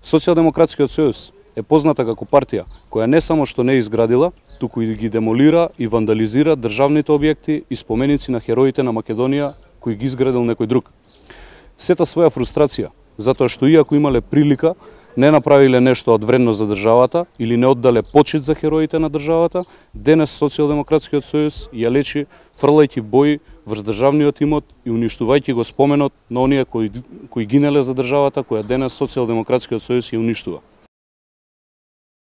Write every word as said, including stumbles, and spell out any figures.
Социјалдемократскиот сојуз е позната како партија која не само што не изградила, туку и ги демолира и вандализира државните објекти и споменици на хероите на Македонија кои ги изградил некој друг. Сета своја фрустрација, затоа што иако имале прилика, не направиле нешто од вредност за државата или не оддале почит за хероите на државата, денес Социјалдемократскиот сојуз ја лечи фрлајќи бои врз државниот имот и уништувајќи го споменот на оние кои, кои гинеле за државата, која денес Социјалдемократскиот сојуз ја уништува.